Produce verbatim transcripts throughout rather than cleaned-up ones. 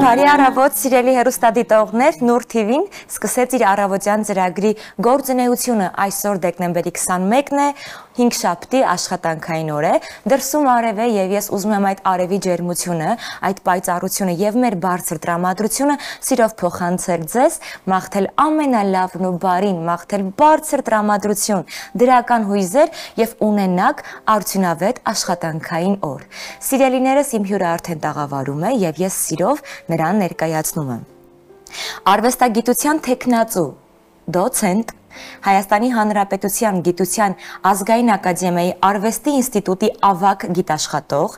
Բարի առավոտ, սիրելի հեռուստադիտողներ, Նուր թիվին սկսեց իր առավոտյան ծրագրի գործունեությունը այսօր դեկտեմբերի քսանմեկն է, հինգշաբթի աշխատանքային օր է, դրսում արև է եւ ես ուզում եմ այդ արևի ջերմությունը, այդ պայծառությունը եւ մեր բարձր տրամադրությունը սիրով փոխանցել ձեզ, մաղթել ամենալավն ու բարին, մաղթել բարձր տրամադրություն, դրական հույզեր եւ ունենաք արդյունավետ աշխատանքային օր։ Սիրելիներս, իմ հյուրը արդեն տաղավարում է եւ ես սիրով նրան ներկայացնում եմ։ Արվեստագիտության թեկնածու, դոցենտ, Հայաստանի Հանրապետության Գիտության ազգային ակադեմիայի Արվեստի ինստիտուտի ավագ գիտաշխատող,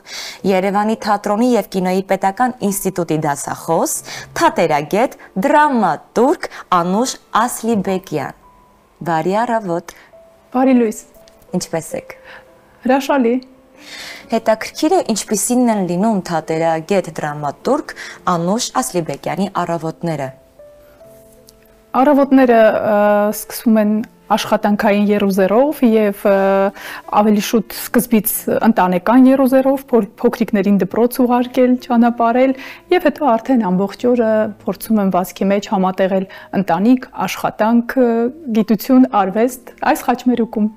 Երևանի թատրոնի եւ կինոյի պետական ինստիտուտի դասախոս, թատերագետ, դրամատուրգ Անուշ Ասլիբեկյան։ Բարի առավոտ։ Բարի լույս։ Ինչպե՞ս եք։ Հրաշալի։ Հետաքրքիր է ինչպիսին են լինում թատերագետ դրամատուրգ Անուշ Ասլիբեկյանի առավոտները։ Առավոտները սկսվում են աշխատանքային երուզերով եւ ավելի շուտ սկզբից ընտանեկան երուզերով, փոքրիկներին դպրոց ուղարկել, ճանապարհել եւ հետո արդեն ամբողջ օրը փորձում եմ վազքի մեջ համատեղել ընտանիք, աշխատանք, գիտություն, արվեստ այս խաչմերուկում։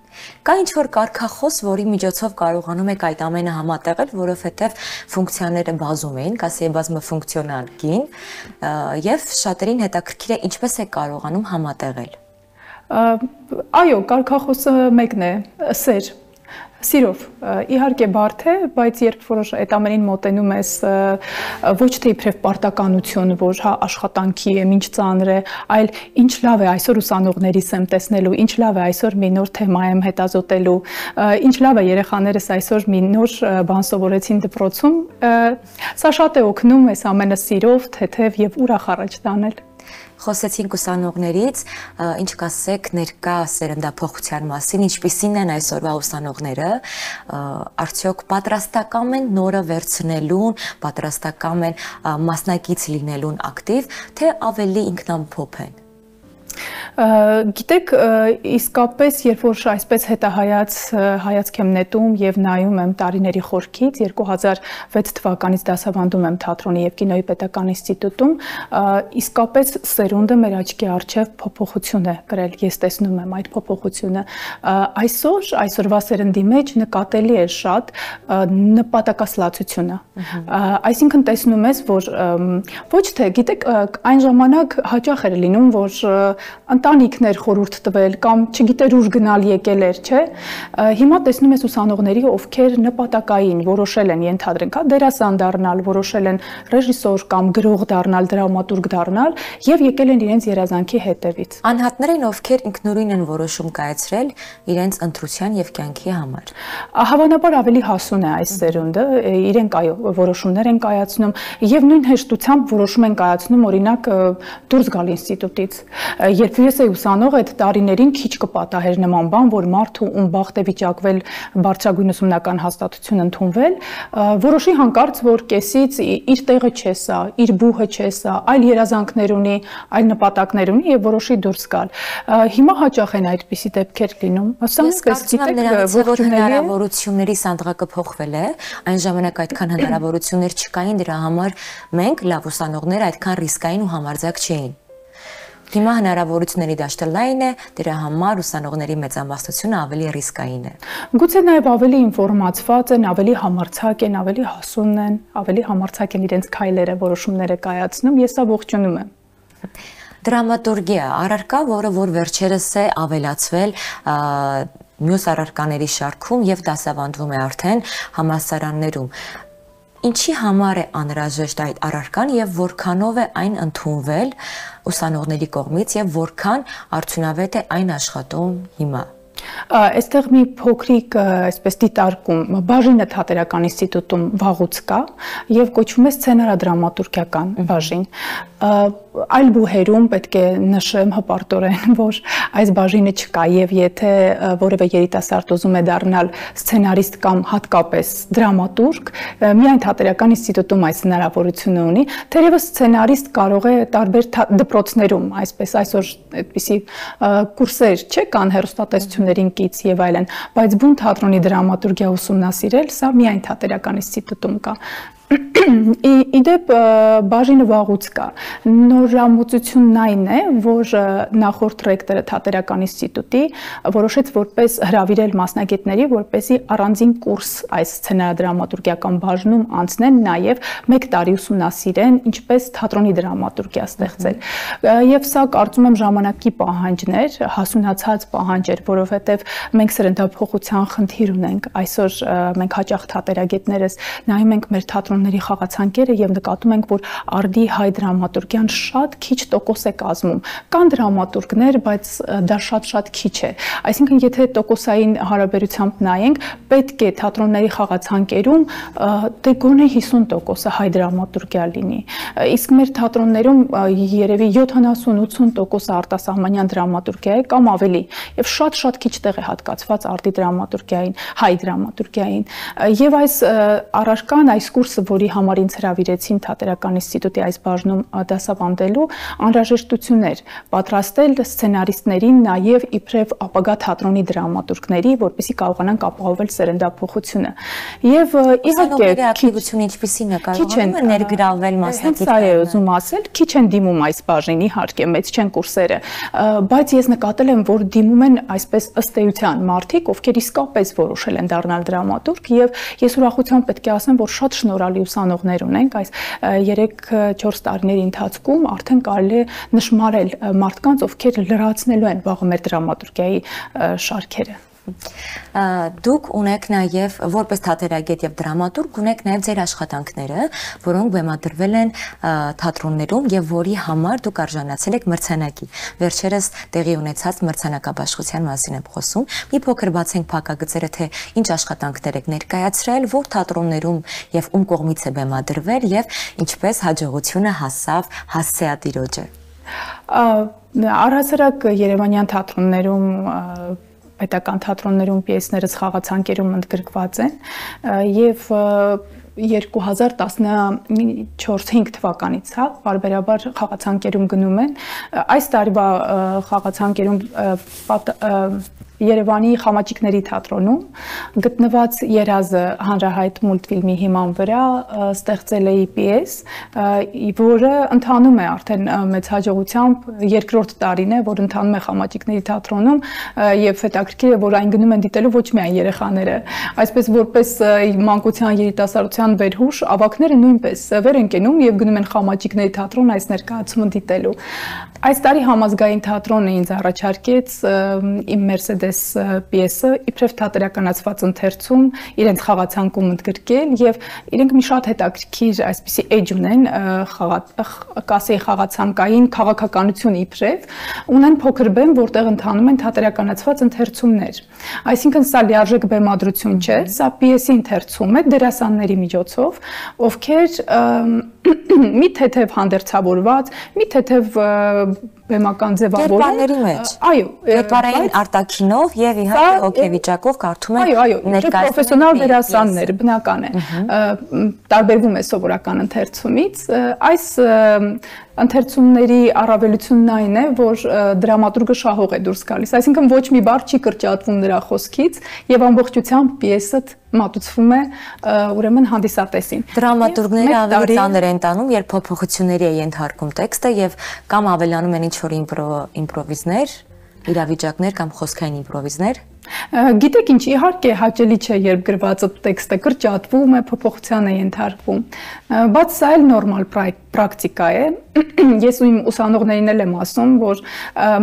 Կա ինչ-որ կարգախոս, որի միջոցով կարողանում եք այդ ամենը համատեղել, որովհետև ֆունկցիաները բազում էին, կասեի բազմաֆունկցիոնալ կին, եւ շատերին հետաքրքիր է ինչպես է կարողանում համատեղել։ Այո, կարգախոսը մեկն է, սեր, սիրով, իհարկե բարդ է, բայց երբ որ այդ ամենին մոտենում ես ոչ թե իբրև պարտականություն, որ հա աշխատանքի է, ինչ ծանր է, այլ ինչ լավ է այսօր ուսանողներիս եմ տեսնելու, ինչ լավ է այսօր մի նոր թեմա եմ հետազոտելու, ինչ լավ է երեխաներս այսօր մի նոր բան սովորեցին դպրոցում, սա շատ է օգնում այս ամենը սիրով, թեթև եւ ուրախ առաջ տանել։ Խոսեցինք ուսանողներից, ինչ կասեք ներկա սերնդափոխության մասին, ինչպիսին են այսօրվա ուսանողները, արդյոք պատրաստական են նորը վերցնելուն, պատրաստական են մասնակից լինելուն ակտիվ, թե ավելի ինքնամփոփ են։ Գիտեք, իսկապես, երբ որ այսպես հետահայաց հայացք եմ նետում եւ նայում եմ տարիների խորքից, երկու հազար վեց թվականից դասավանդում եմ թատրոնի եւ կինոյի պետական ինստիտուտում, իսկապես սերունդը մեր աչքի առջև փոփոխություն է կրել, ես տեսնում եմ այդ փոփոխությունը։ Այսօր, այսօրվա սերնդի մեջ նկատելի է շատ նպատակասլացությունը։ Այսինքն տեսնում ես, որ ոչ թե, գիտեք, այն ժամանակ հաճախ էր լինում, որ ընտանիքներ խորհուրդ տվել կամ չգիտեր ուր գնալ եկել էր, չէ։ Հիմա տեսնում ես ուսանողների, ովքեր նպատակային որոշել են, ենթադրենք, դերասան դառնալ, որոշել են ռեժիսոր կամ գրող դառնալ, դրամատուրգ դառնալ եւ եկել են իրենց երազանքի հետևից։ Անհատներ են, ովքեր ինքնուրույն են որոշում կայացրել իրենց ընտրության եւ կյանքի համար։ Հավանաբար ավելի հասուն է այս սերունդը, իրենք այո, որոշումներ են կայացնում եւ նույն հեշտությամբ որոշում են կայացնում, օրինակ, դուրս գալ ինստիտուտից։ Երբ ես էի ուսանող, այդ տարիներին քիչ կպատահեր նման բան, որ մարդու ում բախտ է վիճակվել բարձրագույն ուսումնական հաստատություն ընդունվել, որոշի հանկարծ, որ կեսից իր տեղը չէ սա, իր բուհը չէ սա, այլ երազանքներ ունի, այլ նպատակներ ունի եւ որոշի դուրս գալ։ Հիմա հաճախ են այդպիսի դեպքեր լինում։ Ասենք, գիտեք, հնարավորությունների սանդղակը փոխվել է, այն ժամանակ այդքան հնարավորություններ չկային, դրա համար մենք լավ ուսանողներ այդքան ռիսկային ու համարձակ չէին։ Հիմա հնարավորությունների դաշտը լայն է, դրա համար ուսանողների մեծամասնությունը ավելի ռիսկային է։ Գուցե նաև ավելի ինֆորմացված են, ավելի համարձակ են, ավելի հասուն են, ավելի համարձակ են իրենց քայլերը, որոշումները կայացնում, ես սա ողջունում եմ։ Դրամատուրգիա, առարկա, որը որ վերջերս է ավելացվել մյուս առարկաների շարքում եւ դասավանդվում է արդեն համալսարաններում։ Ինչի համար է անհրաժեշտ այդ առարկան եւ որքանով է այն ընդունվել ուսանողների կողմից եւ որքան արդյունավետ է այն աշխատում հիմա։ Այստեղ մի փոքրիկ այսպես դիտարկում բաժինը թատերական ինստիտուտում վաղուց կա եւ կոչվում է սցենարադրամատուրգիական բաժին։ Այլ բուհերում պետք է նշեմ հպարտորեն, որ այս բաժինը չկա եւ եթե որևէ երիտասարդ ուզում է դառնալ սցենարիստ կամ հատկապես դրամատուրգ, միայն թատերական ինստիտուտում այս հնարավորությունը ունի, թերևս սցենարիստ կարող է տարբեր դպրոցներում, այսպես այսօր այդպիսի կուրսեր չէ կան հեռուստատեսություններին կից եւ այլն, բայց բուն թատրոնի դրամատուրգիա ուսումնասիրել, սա միայն թատերական ինստիտուտում կա։ Իդեպ բաժինը վաղուց կա։ Նորամուծությունն այն է, որ նախորդ ռեկտորը Թատերական ինստիտուտի որոշեց որպես հրավիրել մասնագետների, որպեսզի առանձին կուրս այս սցենարադրամատուրգիական բաժնում անցնեն, նաև մեկ տարի ուսումնասիրեն ինչպես թատրոնի դրամատուրգիա ստեղծել։ Եվ սա կարծում եմ ժամանակի պահանջներ, հասունացած պահանջ էր, որովհետև մենք սրընթափոխության խնդիր ունենք։ Այսօր մենք հաճախ թատերագետներս նայում ենք մեր թատրոնների խաղացանկերը եւ նկատում ենք, որ արդի հայ դրամատուրգիան շատ քիչ տոկոս է կազմում։ Կան դրամատուրգներ, բայց դա շատ-շատ քիչ է։ Այսինքն, եթե տոկոսային հարաբերությամբ նայենք, պետք է թատրոնների խաղացանկերում դե գոնե հիսուն տոկոսը հայ դրամատուրգիա լինի։ Իսկ մեր թատրոններում երևի յոթանասուն-ութսուն տոկոսը արտասահմանյան դրամատուրգիա է կամ ավելի, եւ շատ-շատ քիչ տեղ է հատկացված արդի դրամատուրգիային, հայ դրամատուրգիային։ Եվ այս առարկան, այս կուրսը, որի համար ինձ հրավիրեցին Թատերական ինստիտուտի այս բաժնում դասավանդելու, անհրաժեշտություն էր պատրաստել սցենարիստներին նաև իբրև ապագա թատրոնի դրամատուրգների, որպեսզի կարողանան ապահովել սերնդափոխությունը։ Եվ իհարկե ակտիվությունը ինչպիսին է կարողանում է ներգրավել մասնակիցները։ Հենց այո, ուզում ասել, քիչ են դիմում այս բաժին, իհարկե մեծ չեն կուրսերը, բայց ես նկատել եմ, որ դիմում են այսպես ըստ էության մարդիկ, ովքեր իսկապես որոշել են դառնալ դրամատուրգ, եւ ես ուրախությամբ պետք է ասեմ, որ շատ շնորհալի ուսանողներ ունենք այս երեք-չորս տարիների ընթացքում արդեն կարելի է նշմարել մարդկանց, ովքեր լրացնելու են վաղը մեր դրամատուրգիայի շարքերը։ Դուք ունեք նաև որպես թատերագետ եւ դրամատուրգ ունեք նաև ձեր աշխատանքները, որոնք բեմադրվել են թատրոններում եւ որի համար դուք արժանացել եք մրցանակի։ Վերջերս տեղի ունեցած մրցանակաբաշխության մասին եմ խոսում։ Մի փոքր բացենք փակագծերը, թե ինչ աշխատանքներ եք ներկայացրել, որ թատրոններում եւ ում կողմից է բեմադրվել եւ ինչպես հաջողությունը հասավ հասցեատիրոջը։ Առհասարակ Երևանյան թատրոններում պետական թատրոններում պիեսներս խաղացանկերում ընդգրկված են եւ երկու հազար տասնչորս-հինգ թվականից, հա, բարբերաբար խաղացանկերում գնում են։ Այս տարվա խաղացանկերում Երևանի Խամաճիկների թատրոնում գտնված Երազը հանրահայտ մուլտֆիլմի հիման վրա ստեղծել էի պիես, որը ընթանում է արդեն մեծ հաջողությամբ, երկրորդ տարին է, որ ընթանում է Խամաճիկների թատրոնում եւ հետաքրքիր է, որ այն գնում են դիտելու ոչ միայն երեխաները, այսպես որպես մանկության երիտասարդության վերհուշ, ավագները նույնպես վեր են կենում եւ գնում են Խամաճիկների թատրոն այս ներկայացումը դիտելու։ Այս տարի համազգային թատրոնը ինձ առաջարկեց իմ Մերսեդես պիեսը իբրև թատերականացված ընթերցում իրենց խաղացանկում ընդգրկել եւ իրենք մի շատ հետաքրքիր այսպիսի էջ ունեն կասեի խաղացանկային քաղաքականություն իբրև ունեն փոքր բեմ, որտեղ ընթանում են թատերականացված ընթերցումներ։ Այսինքն սա լիարժեք բեմադրություն չէ, սա պիեսի ընթերցում է դերասանների միջոցով, ովքեր մի թեթև հանդերձավորված, մի թեթև բեմական ձևավորել։ Այո, կերպարային արտաքինով եւ իհարկե հոգեվիճակով կարդում են ներկայացնում պրոֆեսիոնալ դերասաններ, բնական է։ Տարբերվում է սովորական ընթերցումից։ Այս ընթերցումների առավելությունն այն է, որ դրամատուրգը շահող է դուրս գալիս, այսինքն ոչ մի բառ չի կրճատվում նրա խոսքից եւ ամբողջությամբ պիեսը մատուցվում է ուրեմն հանդիսատեսին։ Դրամատուրգները ավելի ծանր են տանում, երբ փոփոխությունների է ենթարկում տեքստը եւ կամ ավելանում են ինչ-որ իմպրովիզներ, իրավիճակներ կամ խոսքային իմպրովիզներ։ Գիտեք ինչ, իհարկե հաճելի չէ, երբ գրվածը տեքստը կրճատվում է, փոփոխության է ենթարկվում, բայց սա էլ նորմալ պրակտիկա է։ Ես ու իմ ուսանողներին էլ եմ ասում, որ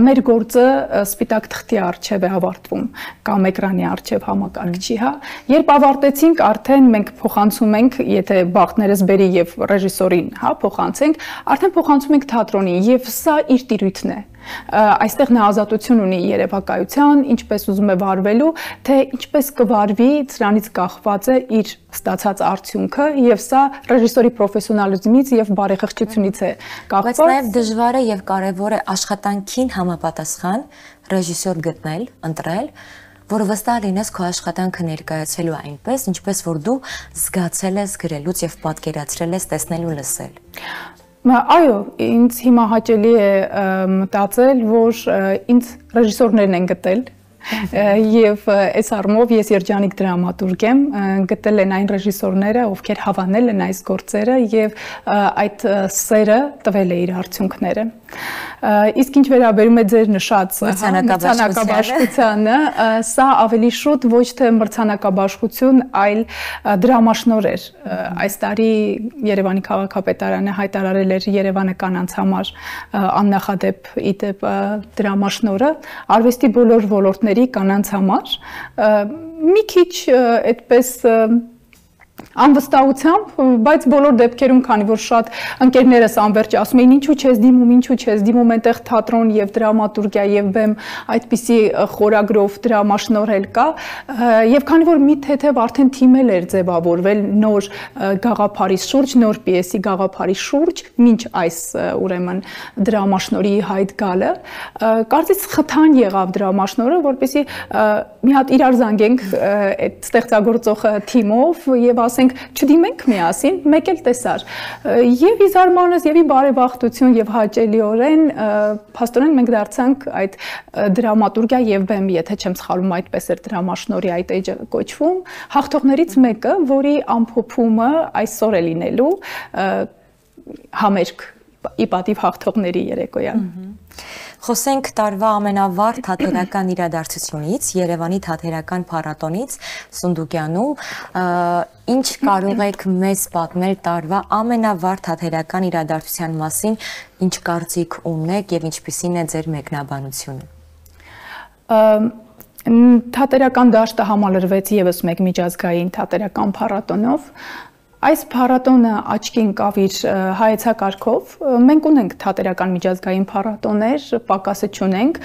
մեր գործը սպիտակ թղթի առջև է ավարտվում կամ էկրանի առջև համակարգչի, հա։ Երբ ավարտեցինք, արդեն մենք փոխանցում ենք, եթե բախտներս բերի եւ ռեժիսորին, հա, փոխանցենք, արդեն փոխանցում ենք թատրոնին եւ սա իր տիրույթն է։ Այստեղ նա ազատություն ունի երևակայության, ինչպես ուզում է վարվելու, թե ինչպես կվարվի, դրանից կախված է իր ստացած արդյունքը եւ սա ռեժիսորի պրոֆեսիոնալիզմից եւ բարեխղճությունից է կախված։ Բայց նաեւ դժվար է եւ կարեւոր է աշխատանքին համապատասխան ռեժիսոր գտնել, ընտրել, որը վստահ լինես քո աշխատանքը ներկայացելու այնպես, ինչպես որ դու զգացել ես գրելուց եւ պատկերացրել ես տեսնել ու լսել։ Այո, ինձ հիմա հաճելի է մտածել, որ ինձ ռեժիսորներն են գտել Եվ այս առումով ես երջանիկ դրամատուրգ եմ, գտել են այն ռեժիսորները, ովքեր հավանել են այս գործերը եւ այդ սերը տվել է իր արդյունքները։ Իսկ ինչ վերաբերում է ձեր նշած մրցանակաբաշխությանը, սա ավելի շուտ ոչ թե մրցանակաբաշխություն, այլ դրամաշնոր էր։ Այս տարի Երևանի քաղաքապետարանը հայտարարել էր Երևանը կանանց համար աննախադեպ իդեպ դրամաշնորը արվեստի բոլոր ոլորտների կանանց համար։ Մի քիչ այդպես անվստահությամբ, բայց բոլոր դեպքերում, քանի որ շատ ընկերներս անverջ ասում էին, ինչու չես դիմում, ինչու չես դիմում, այնտեղ թատրոն եւ դրամատուրգիա եւ բեմ այդպիսի խորագրով դրամաշնորհել կա, եւ քանի որ մի թեթև արդեն թիմել էր ձևավորվել նոր գաղափարի շուրջ, նոր պիեսի գաղափարի շուրջ, մինչ այս ուրեմն դրամաշնորհի հայտ գալը, կարծես խթան եղավ դրամաշնորհը, որպեսզի մի հատ իրար զանգենք այդ ստեղծագործող թիմով եւ ասենք չդիմենք միասին, մեկ էլ տեսար։ Եվ ի զարմանս, եւ ի բարեբախտություն եւ հաճելիորեն փաստորեն մենք դարձանք այդ դրամատուրգիա եւ բեմ, եթե չեմ սխալվում, այդպես էր դրամաշնորհի այդ էջը կոչվում, հաղթողներից մեկը, որի ամփոփումը այսօր է լինելու համերգ ի պատիվ հաղթողների երեկոյան։ Խոսենք տարվա ամենավառ թատերական իրադարձությունից, Երևանի թատերական փառատոնից Սունդուկյանում, ինչ կարող եք մեզ պատմել տարվա ամենավառ թատերական իրադարձության մասին, ինչ կարծիք ունեք եւ ինչպիսին է ձեր մեկնաբանությունը։ Թատերական դաշտը համալրվեց եւս մեկ միջազգային թատերական փառատոնով։ Այս փառատոնը աչքի ընկավ իր հայեցակարգով, մենք ունենք թատերական միջազգային փառատոներ, պակասը չունենք,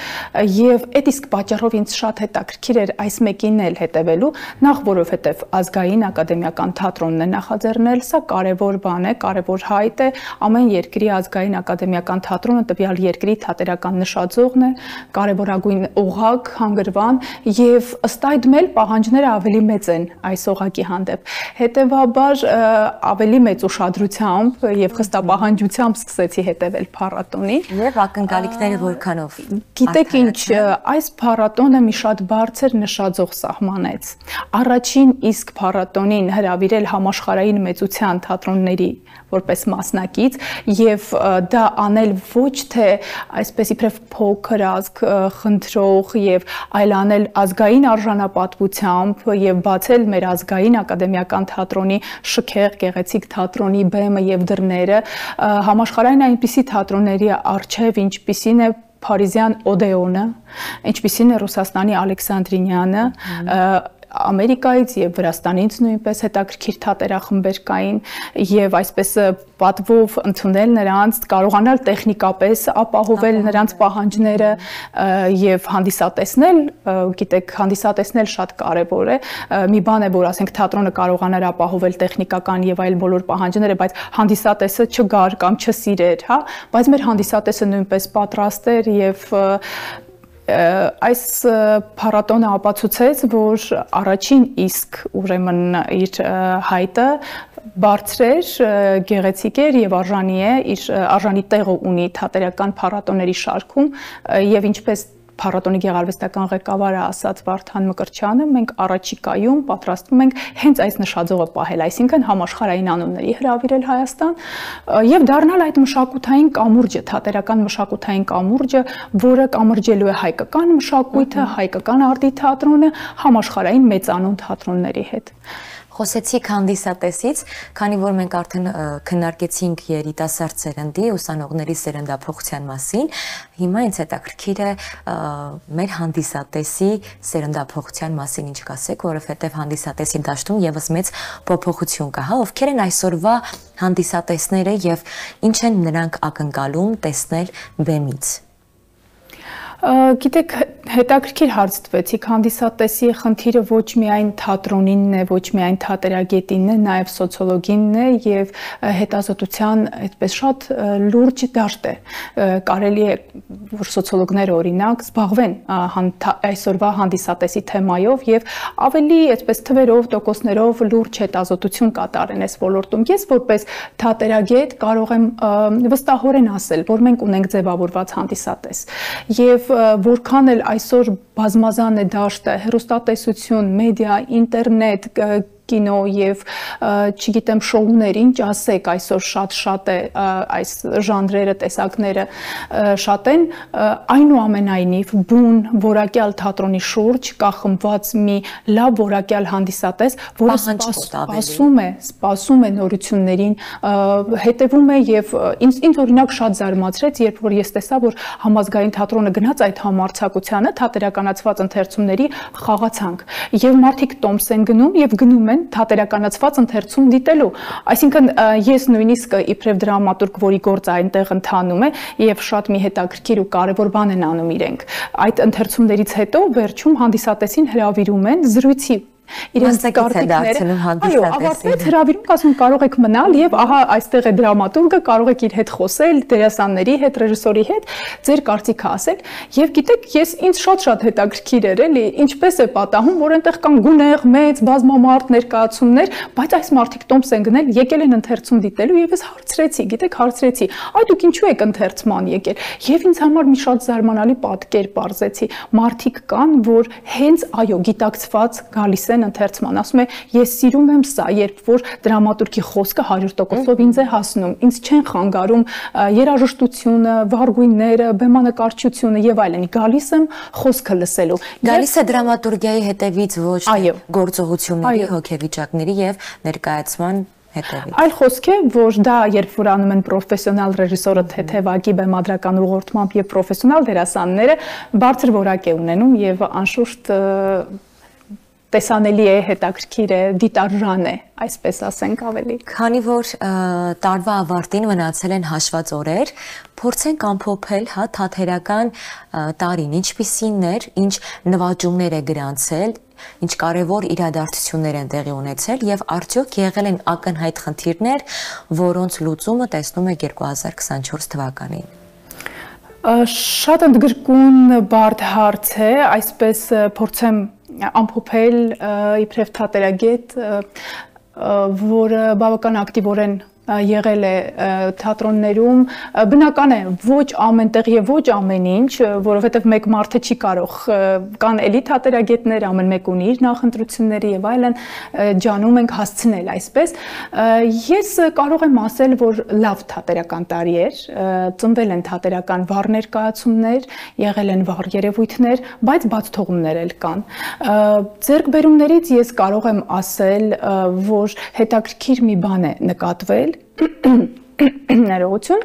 եւ այդ իսկ պատճառով ինձ շատ հետաքրքիր էր այս մեկին էլ հետևելու, նախ որովհետեւ ազգային ակադեմիական թատրոնն է նախաձեռնել, սա կարևոր բան է, կարևոր հայտ է, ամեն երկրի ազգային ակադեմիական թատրոնը տվյալ երկրի թատերական նշաձողն է, կարևորագույն օղակ, հանգրվան, եւ ըստ այդմ էլ պահանջները ավելի մեծ են այս օղակի հանդեպ։ Հետևաբար ավելի մեծ ուշադրությամբ եւ խստապահանջությամբ սկսեցի հետևել փառատոնին։ Եվ ակնկալիքները որքանով։ Գիտեք ինչ, այս փառատոնը մի շատ բարձր նշաձող սահմանեց։ Առաջին իսկ փառատոնին հրավիրել համաշխարհային մեծության թատրոնների որպես մասնակից եւ դա անել ոչ թե այսպես իբրև փոքր ազգ խնդրող եւ այլ անել ազգային արժանապատվությամբ եւ բացել մեր ազգային ակադեմիական թատրոնի շքեղ գեղեցիկ թատրոնի բեմը եւ դռները համաշխարհային այնպիսի թատրոնների արչեւ, ինչպիսին է Փարիզյան Օդեոնը, ինչպիսին է Ռուսաստանի Ալեքսանդրինյանը, Ամերիկայից եւ Վրաստանից նույնպես հետաքրքիր թատերախմբեր կային եւ այսպես պատվով ընդունել նրանց, կարողանալ տեխնիկապես ապահովել նրանց պահանջները եւ հանդիսատեսնել, գիտեք, հանդիսատեսնել շատ կարեւոր է։ Մի բան է, որ ասենք թատրոնը կարողանար ապահովել տեխնիկական եւ այլ բոլոր պահանջները, բայց հանդիսատեսը չգար կամ չսիրեր, հա, բայց մեր հանդիսատեսը նույնպես պատրաստ էր եւ այս փառատոնը ապացուցեց, որ առաջին իսկ ուրեմն իր հայտը բարձր էր, գեղեցիկ էր եւ արժանի է, իր արժանի տեղը ունի թատերական փառատոների շարքում եւ ինչպես Փառատոնի գեղարվեստական ղեկավարը ասաց Վարդան Մկրտչյանը, մենք առաջիկայում պատրաստվում ենք հենց այս նշաձողը պահել, այսինքն համաշխարհային անունների հրավիրել Հայաստան եւ դառնալ այդ մշակութային կամուրջը, թատերական մշակութային կամուրջը, որը կամրջելու է հայկական մշակույթը, հայկական արտի թատրոնը համաշխարհային մեծանուն թատրոնների հետ։ Խոսեցիք հանդիսատեսից, քանի որ մենք արդեն քննարկեցինք երիտասարդ սերնդի, ուսանողների սերնդափոխության մասին, հիմա ինձ հետաքրքիր է մեր հանդիսատեսի սերնդափոխության մասին ինչ կասեք, որովհետև հանդիսատեսի դաշտում եւս մեծ փոփոխություն կա, հա, ովքեր են այսօրվա հանդիսատեսները եւ ինչ են նրանք ակնկալում տեսնել բեմից։ Գիտեք, հետաքրքիր հարց տվեցիք, հանդիսատեսի խնդիրը ոչ միայն թատրոնինն է, ոչ միայն թատերագետինն է, նաև սոցիոլոգինն է եւ հետազոտության այդպես շատ լուրջ դաշտ է։ Կարելի է, որ սոցիոլոգները օրինակ զբաղվեն այսօրվա հանդիսատեսի թեմայով եւ ավելի այդպես թվերով, տոկոսներով լուրջ հետազոտություն կատարեն այս ոլորտում։ Ես որպես թատերագետ կարող եմ վստահորեն ասել, որ մենք ունենք ձևավորված հանդիսատես եւ որքան էլ այսօր բազմազան է դաշտը, հեռուստատեսություն, մեդիա, ինտերնետ, կինո եւ չգիտեմ շոուներ, ինչ ասեք, այսօր շատ-շատ է այս ժանրերը, տեսակները շատ են, այնուամենայնիվ բուն որակյալ թատրոնի շուրջ կա խմբված մի լավ որակյալ հանդիսատես, որը սպասում է, սպասում է նորություններին, հետևում է եւ ինձ ինձ օրինակ շատ զարմացրեց, երբ որ ես տեսա, որ համազգային թատրոնը գնաց այդ համարձակությանը, թատերականացված ընթերցումների խաղացանք եւ մարդիկ տոմս են գնում եւ գնում թատերականացված ընթերցում դիտելու, այսինքն ես նույնիսկ իբրև դրամատուրգ, որի գործը այնտեղ ընթանում է եւ շատ մի հետաքրքիր ու կարեւոր բան են անում իրենք, այդ ընթերցումներից հետո վերջում հանդիսատեսին հրավիրում են զրույցի իրենց կարտիկները, այո, ավարտվեց հրավիրում, ասում կարող եք մնալ եւ ահա այստեղ է դրամատուրգը, կարող եք իր հետ խոսել, դերասանների հետ, ռեժիսորի հետ, ձեր կարծիքը ասել եւ գիտեք, ես ինձ շատ-շատ հետաքրքիր էր, էլի, ինչպես է պատահում, որ այնտեղ կան գունեղ, մեծ, բազմամարդ ներկայացումներ, բայց այս մարդիկ տոմս են գնել, եկել են ընթերցում դիտելու եւ ես հարցրեցի, գիտեք, հարցրեցի, այ դուք ինչու եք ընթերցման եկել եւ ինձ համար մի շատ զարմանալի պատկեր բարձեցի, մարդիկ կան, որ հենց այո, գիտակցված գալիս են ընթերցման, ասում է ես սիրում եմ սա, երբ որ դրամատուրգի խոսքը հարյուր տոկոսով ինձ է հասնում, ինձ չեն խանգարում երաժշտությունը, վառգույնները, բեմանկարչությունը եւ այլն, գալիս եմ խոսքը լսելու։ Գալիս է դրամատուրգիայի հետևից ոչ թե գործողությունների, հոգեվիճակների եւ ներկայացման հետևից։ Այլ խոսք է, որ դա երբ որ անում են պրոֆեսիոնալ ռեժիսորը թեթևակի բեմադրական ուղղորդմամբ եւ պրոֆեսիոնալ դերասանները բարձր որակ է ունենում եւ անշուշտ տեսանելի է, հետաքրքիր է, դիտարժան է, այսպես ասենք ավելի։ Քանի որ տարվա ավարտին մնացել են հաշված օրեր, փորձենք ամփոփել հա թատերական տարին, ինչպիսին էր, ինչ նվաճումներ է գրանցել, ինչ կարևոր իրադարձություններ են տեղի ունեցել եւ արդյոք եղել են ակնհայտ խնդիրներ, որոնց լուծումը տեսնում եք երկու հազար քսանչորս թվականին։ Շատ ընդգրկուն բարդ հարց է, այսպես փորձեմ ամփոփել իբրև թատերագետ, որը բավական ակտիվորեն եղել է թատրոններում, բնական է ոչ ամենտեղ եւ ոչ ամեն ինչ, որովհետեւ մեկ մարդը չի կարող, կան էլի թատերագետներ, ամեն մեկ ունի իր նախընտրությունները եւ այլն, ջանում ենք հասցնել այսպես։ Ես կարող եմ ասել, որ լավ թատերական տարի էր, ծնվել են թատերական վառ ներկայացումներ, եղել են վառ երևույթներ, բայց բաց թողումներ էլ կան։ Ձեռքբերումներից ես կարող եմ ասել, որ հետաքրքիր մի բան է նկատվել, ներողություն,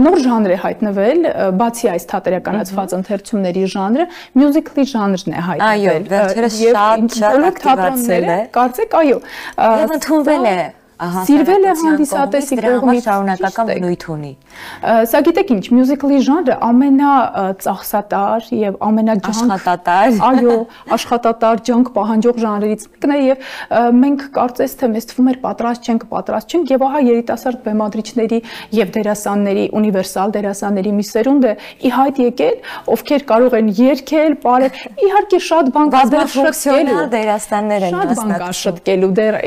նոր ժանր է հայտնվել, բացի այս թատերականացված ընթերցումների ժանրը, մյուզիկլի ժանրն է հայտնվել։ Այո, վերջերս շատ շատ ակտիվացել է։ Կարծեք, այո։ Եվ ընդունվել է Սիրվել է հանդիսատեսի կողմից, շարունակական բնույթ ունի։ Սա գիտեք ինչ, մյուզիկլի ժանրը ամենածախսատար եւ ամենաջանք, այո, աշխատատար, ջանք պահանջող ժանրերից մեկն է եւ մենք կարծես թե մեզ թվում էր պատրաստ չենք, պատրաստ չենք եւ ահա երիտասարդ բեմադրիչների եւ դերասանների, ունիվերսալ դերասանների մի սերունդ է ի հայտ եկել, ովքեր կարող են երգել, պարել, իհարկե շատ բան կա դեռ ֆունկցիոնալ դերասաններ են մասնակցում, շատ բան կա շտկելու դեռ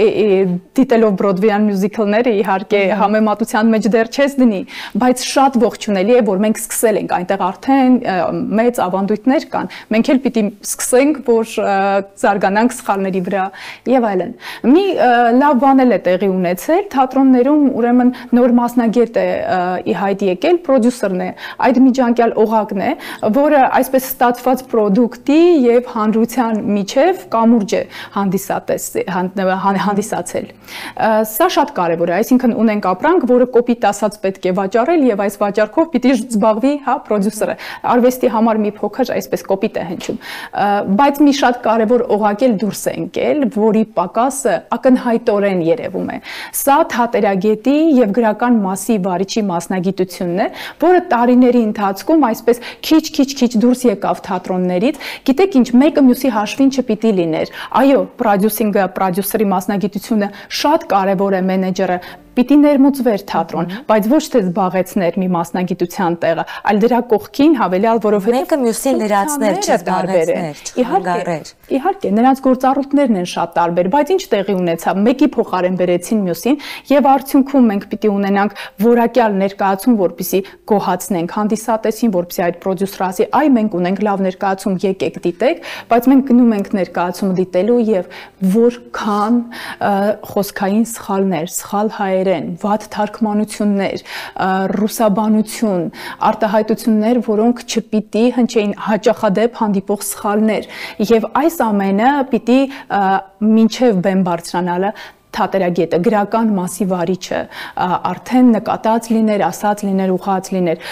դիտելով Broadway-յան մյուզիկլները իհարկե համեմատության մեջ դեռ չես դնի, բայց շատ ողջունելի է, որ մենք սկսել ենք, այնտեղ արդեն մեծ ավանդույթներ կան, մենք էլ պիտի սկսենք, որ զարգանանք սխալների վրա եւ այլն։ Մի լավ բան էլ է տեղի ունեցել, թատրոններում ուրեմն նոր մասնագետ է ի հայտ եկել, պրոդյուսերն է, այդ միջանկյալ օղակն է, որը այսպես ստացված պրոդուկտի եւ հանրության միջև կամուրջ է հանդիսատես հանդիսացել։ Սա շատ կարևոր է, այսինքն ունենք ապրանք, որը կոպիտ ասած պետք է վաճառել եւ այս վաճառքով պիտի զբաղվի, հա, պրոդյուսերը։ Արվեստի համար մի փոքր այսպես կոպիտ է հնչում, բայց մի շատ կարևոր օղակ էլ դուրս է ընկել, որի պակասը ակնհայտորեն երևում է։ Սա թատերագետի եւ գրական մասի վարիչի մասնագիտությունն է, որը տարիների ընթացքում այսպես քիչ-քիչ-քիչ դուրս եկավ թատրոններից։ Գիտեք ինչ, մեկը մյուսի հաշվին չպիտի լիներ։ Այո, պրոդյուսինգը, պրոդյուսերի մասնագիտությունը շատ կարևոր է, մենեջերը պիտի ներմուծվեր թատրոն, բայց ոչ թե զբաղեցներ մի մասնագիտության տեղը, այլ դրա կողքին հավելյալ, որովհետև մեկը մյուսին լրացներ, չզբաղեցներ, չխանգարեր։ Իհարկե, նրանց գործառույթներն են շատ տարբեր, բայց ինչ տեղի ունեցավ, մեկի փոխարեն բերեցին մյուսին եւ արդյունքում մենք պիտի ունենանք որակյալ ներկայացում, որպեսզի գոհացնենք հանդիսատեսին, որպեսզի այդ պրոդյուսերը ասի, այ մենք ունենք լավ ներկայացում, եկեք դիտեք, բայց մենք գնում ենք ներկայացումը դիտելու եւ որքան խոսքային սխալներ, սխալ հայերեն, վատ թարգմանություններ, ռուսաբանություն, արտահայտություններ, որոնք չպիտի հնչեին, հաճախադեպ հանդիպող սխալներ եւ այս ամենը պիտի մինչեւ բեմ բարձրանալը թատերագետը, գրական մասի վարիչը արդեն նկատած լիներ, ասած լիներ, ուղղած լիներ։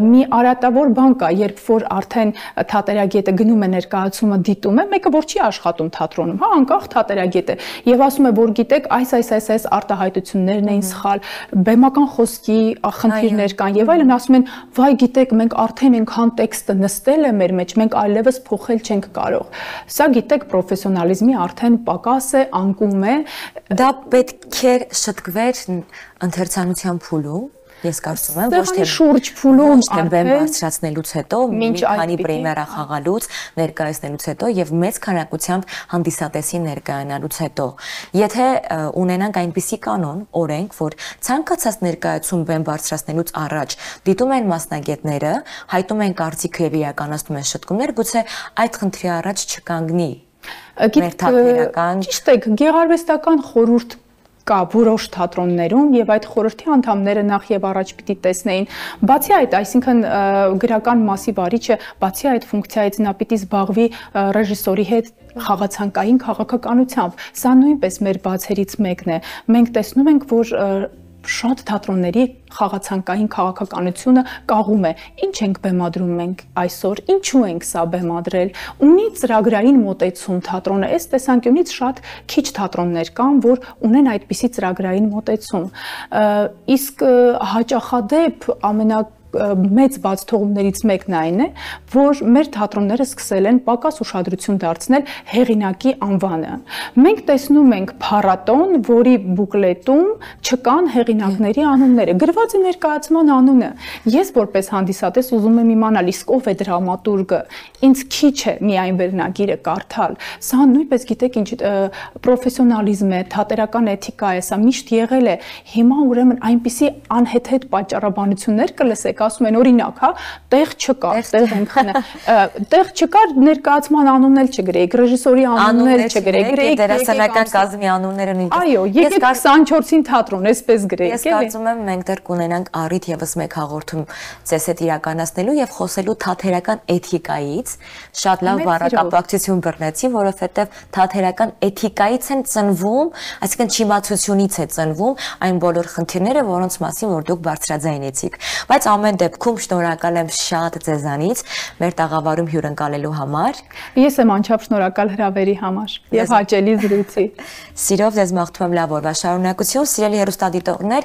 Մի արատավոր բան կա, երբ որ արդեն թատերագետը գնում է ներկայացումը դիտում է, մեկը որ չի աշխատում թատրոնում, հա, անկախ թատերագետ է, եւ ասում է, որ գիտեք, այս այս այս այս արտահայտություններն էին սխալ, բեմական խոսքի խնդիրներ կան եւ այլն, ասում են, վայ, գիտեք, մենք արդեն այնքան տեքստը նստել է մեր մեջ, մենք այլևս փոխել չենք կարող։ Սա գիտեք, պրոֆեսիոնալիզմի արդեն պակաս է, անկում է։ Դա պետք է շտկվեր ընթերցանության փուլում, ես կարծում եմ, ոչ թե շուրջ փուլում, ոչ թե բեմ բարձրացնելուց հետո, մի քանի պրեմիերա խաղալուց, ներկայացնելուց հետո եւ մեծ քանակությամբ հանդիսատեսի ներկայանալուց հետո։ Եթե ունենանք այնպիսի կանոն, օրենք, որ ցանկացած ներկայացում բեմ բարձրացնելուց առաջ դիտում են մասնագետները, հայտում են կարծիքը եւ իրականացնում են շտկումներ, գուցե այդ խնդրի առաջ չկանգնի։ Ճիշտ է, գեղարվեստական խորհուրդ կա որոշ թատրոններում եւ այդ խորհրդի անդամները նախ եւ առաջ պիտի տեսնեին բացի այդ, այսինքն գրական մասի վարիչը բացի այդ ֆունկցիայից նա պիտի զբաղվի ռեժիսորի հետ խաղացանկային քաղաքականությամբ։ Սա նույնպես մեր բացերից մեկն է։ Մենք տեսնում ենք, որ շատ թատրոնների խաղացանկային քաղաքականությունը կաղում է։ Ինչ ենք բեմադրում մենք այսօր, ինչու ենք սա բեմադրել։ Ունի ծրագրային մոտեցում թատրոնը, այս տեսանկյունից շատ քիչ թատրոններ կան, որ ունեն այդպիսի ծրագրային մոտեցում։ Իսկ հաճախադեպ ամենա մեծ բաց թողումներից մեկն այն է, որ մեր թատրոնները սկսել են պակաս ուշադրություն դարձնել հեղինակի անվանը։ Մենք տեսնում ենք փառատոն, որի բուկլետում չկան հեղինակների անունները, գրված է ներկայացման անունը։ Ես որպես հանդիսատես ուզում եմ իմանալ, իսկ ով է դրամատուրգը, ինձ քիչ է միայն վերնագիրը կարդալ։ Սա նույնպես գիտեք ինչ պրոֆեսիոնալիզմ է, թատերական էթիկա է, սա միշտ եղել է։ Հիմա ուրեմն այնպիսի անհեթեթ պատճառաբանություններ կլսեք, ասում են օրինակ, հա, տեղ չկար, տեղ ենք խնա, տեղ չկար, ներկայացման անունն էլ չգրեիք, ռեժիսորի անունն էլ չգրեիք, գրեիք դերասանական կազմի անունները նույնպես։ Այո, եկեք քսանչորսին թատրոն, այսպես գրեիք։ Ես կարծում եմ մենք դեռ կունենանք առիթ եւս մեկ հաղորդում ձեզ հետ իրականացնելու եւ խոսելու թատերական էթիկայից, շատ լավ բառակապակցություն բռնեցի, որովհետեւ թատերական էթիկայից են ծնվում, այսինքն չիմացությունից է ծնվում այն բոլոր խնդիրները, որոնց մասին որ դուք բարձրաձայնեցիք։ Բայց ամեն դեպքում շնորհակալ եմ շատ ձեզանից մեր տաղավարում հյուրընկալելու համար։ Ես եմ անչափ շնորհակալ հրավերի համար եւ հաճելի զրույցի։ Սիրով ձեզ մաղթում եմ լավ օրվա շարունակություն, սիրելի հեռուստադիտողներ,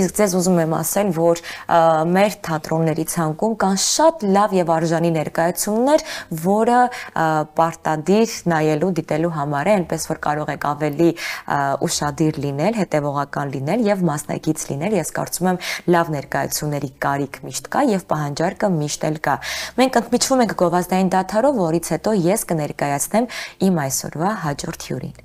իսկ ձեզ ուզում եմ ասել, որ մեր թատրոնների ցանկում կան շատ լավ եւ արժանի ներկայացումներ, որը պարտադիր նայելու, դիտելու համար է, այնպես որ կարող եք ավելի ուշադիր լինել, հետեւողական լինել եւ մասնակից լինել։ Ես կարծում եմ լավ ներկայացումների կարիք միշտ կա եւ պահանջարկը միշտ էլ կա։ Մենք ընդմիջվում ենք գովազդային դադարով, որից հետո ես կներկայացնեմ իմ այսօրվա հաջորդ հյուրին։